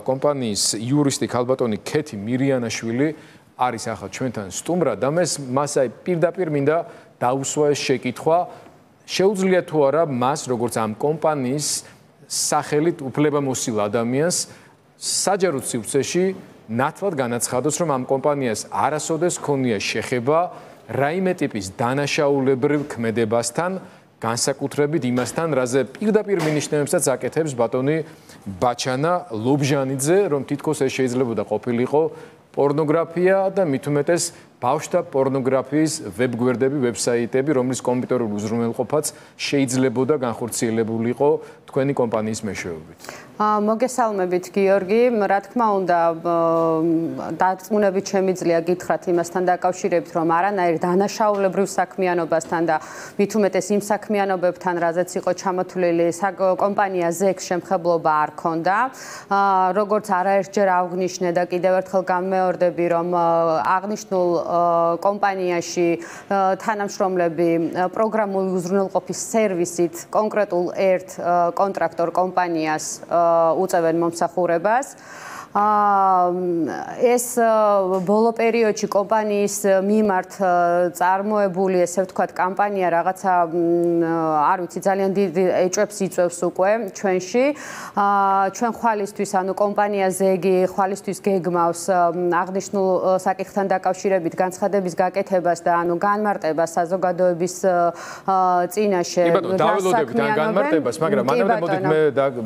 კომპანიის იურისტი ქალბატონი ქეთი მირიანაშვილი არის ახლა ჩვენთან სტუმრად და მას აი პირდაპირ მინდა დაუსვა ეს შეკითხვა შეუძლია თუ არა მას როგორც ამ კომპანიის სახელით უფლებამოსილ ადამიანს საჯარო სივრცეში ნათლად განაცხადოს რომ ამ კომპანიას არასოდეს ქონია შეხება რაიმე ტიპის დანაშაულებრივ ქმედებასთან განსაკუთრებით იმასთან რაზე პირდაპირ მინიშნებებსაც აკეთებს ბატონი ბაჩანა ლობჟანიძე რომ თითქოს ეს შეიძლებოდა ყოფილიყო პორნოგრაფია და მით უმეტეს ბავშვთა პორნოგრაფიის ვებგვერდები, ვებსაიტები, რომლის კომპიუტერული უზრუნველყოფაც შეიძლებოდა განხორციელებულიყო თქვენი კომპანიის მეშვეობით. მოგესალმებით გიორგი, რა თქმა უნდა, დარწმუნებით შემიძლია გითხრათ იმასთან დაკავშირებით, რომ არანაირ დანაშაულებრივ საქმიანობასთან და მით უმეტეს იმ საქმიანობებთან, რაზეც იყო ჩამოთვლილი კომპანია ზექს შემხებლობა არ ქონდა. როგორც არაერთჯერ აღნიშნე და კიდევ ერთხელ გამეორდები, რომ აღნიშნულ კომპანიაში თანამშრომლები პროგრამული უზრუნველყოფის სერვისით კონკრეტულ ერთ კონტრაქტორ კომპანიას უწევენ მომსახურებას. ეს ბოლო პერიოდში კომპანიის მიმართ წარმოებული, ესე ვთქვათ, კამპანია რაღაცა არ ვიცი, ძალიან დიდ ეჭვებს იწვევს უკვე ჩვენში. ჩვენ ხვალისთვის, ანუ კომპანია ზეგი ხვალისთვის გეგმავს აღნიშნულ საკითხთან დაკავშირებით განცხადების გაკეთებას და ანუ განმარტებას საზოგადოების წინაშე. კი ბატონო, დაველოდებით ან განმარტებას, მაგრამ მანამდე მოდით მე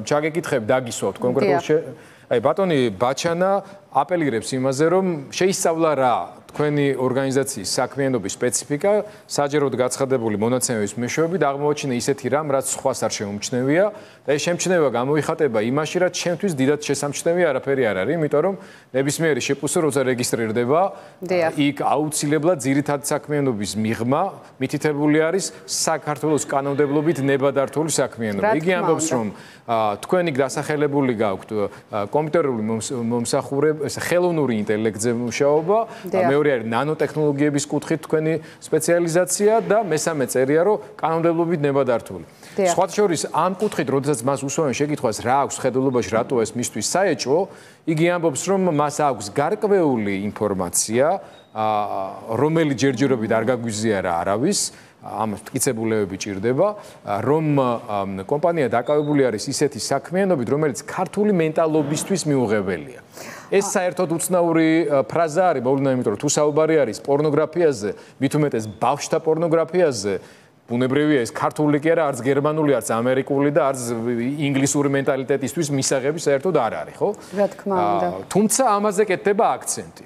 ჩაგეკითხებ, დაგისვავთ კონკრეტულ აი ბატონი ბაჩანა აპელირებს იმაზე რომ შეისწავლა რა თქვენი ორგანიზაციის საქმიანობის სპეციფიკა საჯაროდ გაცხადებული მონაცემების მეშვეობით აღმოაჩინა ისეთი რამ რაც სხვას არ შეუმჩნევია და ეს შემჩნევა გამოიხატება იმაში რაც ჩემთვის დიდად შესამჩნევი არაფერი არ არის იმიტომ რომ ნებისმიერი შეპუსო როცა რეგისტრირდება იქ აუცილებლად ძირითად საქმიანობის მიღმა მითითებული არის საქართველოს კანონმდებლობით ნებადართული საქმიანობა იგი ამბობს რომ თქვენი დასახელებული გაქვთ კომპიუტერული მომსახურება ხელოვნური ინტელექტზე მუშაობა მეორე არის ნანოტექნოლოგიების კუთხით თქვენი სპეციალიზაცია და მესამე წერია რომ კანონმდებლობით ნებადართული სხვა შორის ამ კუთხით როდესაც მას უსვამენ შეკითხვას რა აქვს ხედულობაში რატო ეს მისთვის საეჭვო იგი ამბობს რომ მას აქვს გარკვეული ინფორმაცია რომელიც ჯერჯერობით არ გაგვიზიარა არავის ამ მტკიცებულებები ჭირდება რომ კომპანია დაკავებული არის ისეთი საქმიანობით რომელიც ქართული მენტალობისთვის მიუღებელია ეს საერთოდ უცნაური ფრაზა არის მოვლენა იმიტომ რომ თუ საუბარი არის პორნოგრაფიაზე მით უმეტეს ბავშვთა პორნოგრაფიაზე ბუნებრივია ეს ქართული კი არა არც გერმანული არც ამერიკული და არც ინგლისური მენტალიტეტისთვის მისაღები საერთოდ არ არის ხო რა თქმა უნდა თუმცა ამაზე კეთდება აქცენტი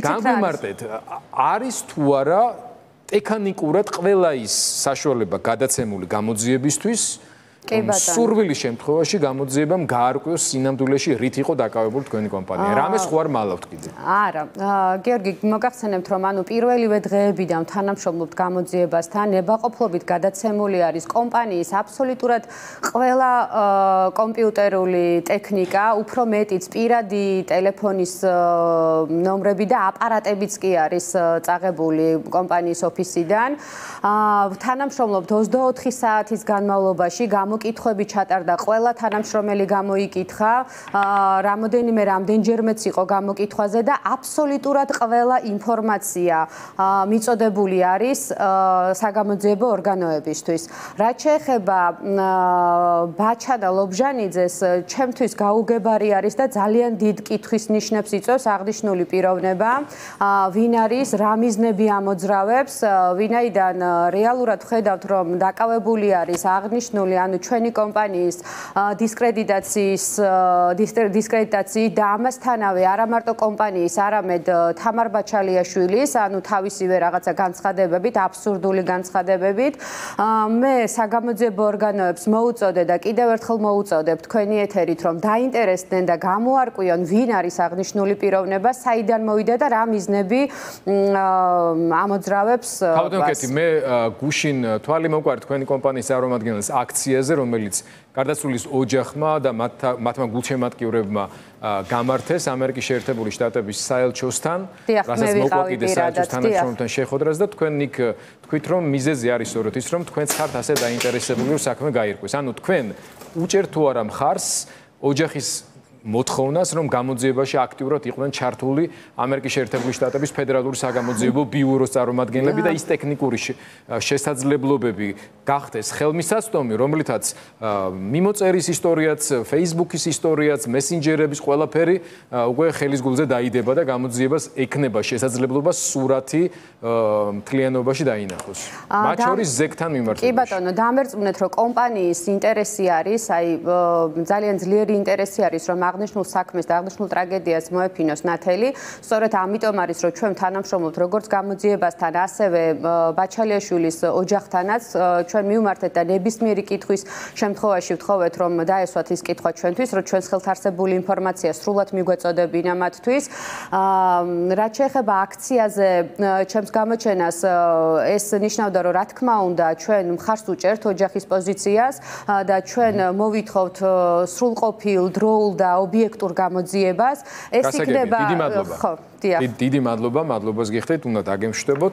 გამიმარტეთ არის თუ არა ტექნიკურად ყველა ის საშუალება გადაცემული გამოძიებისთვის სურვილის შემთხვევაში გამოძიებამ გაარკვიოს სინამდვილეში რით იყო დაკავებული თქვენი კომპანია. რამეს ხო არ მალავთ კიდე? არა, გიორგი, მოგახსენებთ რომ ანუ პირველივე დღეებიდან თანამშრომლობთ გამოძიებასთან, ნებაყოფლობით გადაცემული არის კომპანიის აბსოლუტურად ყველა კომპიუტერული ტექნიკა, უფრო მეტიც პირადი ტელეფონის ნომრები და აპარატებიც კი არის წაღებული კომპანიის ოფისიდან. თანამშრომლობთ 24 საათის განმავლობაში გამოკითხვები ჩატარდა ყველა თანამშრომელი გამოიკითხა რამდენჯერმეც იყო გამოკითხვაზე და აბსოლუტურად ყველა ინფორმაცია მიწოდებული არის საგამოძიებო ორგანოებისთვის. რაც შეეხება ბაჩანა ლობჟანიძეს, ჩემთვის გაუგებარი არის და ძალიან დიდ კითხვის ნიშნებს იწვევს აღნიშნული პიროვნება, ვინ არის, რა მიზნები ამოძრავებს, ვინაიდან რეალურად ხედავთ რომ დაკავებული არის აღნიშნული ანუ ჩვენი კომპანიის დისკრედიტაციით და ამასთანავე არა მარტო კომპანიის, არამედ თამარ ბაჩალიაშვილის, ანუ თავისივე რაღაცა განცხადებებით, აბსურდული განცხადებებით. მე საგამოძიებო ორგანოებს მოუწოდე და კიდევ ერთხელ მოუწოდებ თქვენი ეთერით, რომ დაინტერესდნენ და გამოარკვიონ, ვინ არის აღნიშნული პიროვნება, საიდან მოვიდა და რა მიზნები ამოძრავებს. თავდადაკეთი მე გუშინ თვალი მოყვართ თქვენი კომპანიის წარმომადგენლის აქციაზე, რომელიც გარდაცვლილის ოჯახმა და მათმა გულშემატკივრებმა გამართეს ამერიკის შეერთებული შტატების საელჩოსთან, რასაც მოყვა კიდე საელჩოს თანამშრომელთან შეხვედრას და თქვენ იქ თქვით რომ მიზეზი არის სწორედ ის რომ თქვენც ხართ ასე დაინტერესებული რომ საქმე გაირკვეს. ანუ თქვენ უჭერთ თუ არა მხარს ოჯახის მოთხოვნას, რომ გამოძიებაში აქტიურად იყვნენ ჩართული ამერიკის შეერთებული შტატების ფედერალური საგამოძიებო ბიუროს წარმომადგენლები და ის ტექნიკური შესაძლებლობები გახდეს ხელმისაწვდომი, რომლითაც მიმოწერის ისტორიაც, Facebook-ის ისტორიაც, მესენჯერების ყველაფერი უკვე ხელის გულზე დაიდება და გამოძიებას ექნება შესაძლებლობა სურათი მთლიანობაში დაინახოს. მათ შორის ზეგთან მიმართებაში. კი ბატონო, დამერწმუნეთ, რომ კომპანიის ინტერესი არის, აი ძალიან ძლიერი ინტერესი არის, რომ აღნიშნულ საქმეს და აღნიშნულ ტრაგედიას მოეფინოს ნათელი. სწორედ ამიტომ არის, რომ ჩვენ თანამშრომლობთ როგორც გამოძიებასთან, ასევე ბაჩალიაშვილის ოჯახთანაც. ჩვენ მივმართეთ და ნებისმიერი კითხვის შემთხვევაში ვთხოვეთ, რომ დაესვათ ის კითხვა ჩვენთვის, რომ ჩვენს ხელთ არსებული ინფორმაცია სრულად მიგვეწოდებინა მათთვის. რაც შეეხება აქციაზე, ჩემს გამოჩენას ეს ნიშნავდა, რომ რა თქმა უნდა, ჩვენ მხარს უჭერთ ოჯახის პოზიციას და ჩვენ მოვითხოვთ სრულყოფილ, დროულ და ობიექტურ გამოძიებას. ეს იქნება დიდი მადლობა. დიდი მადლობა, მადლობას გიხდით, უნდა დაგემშვიდობოთ.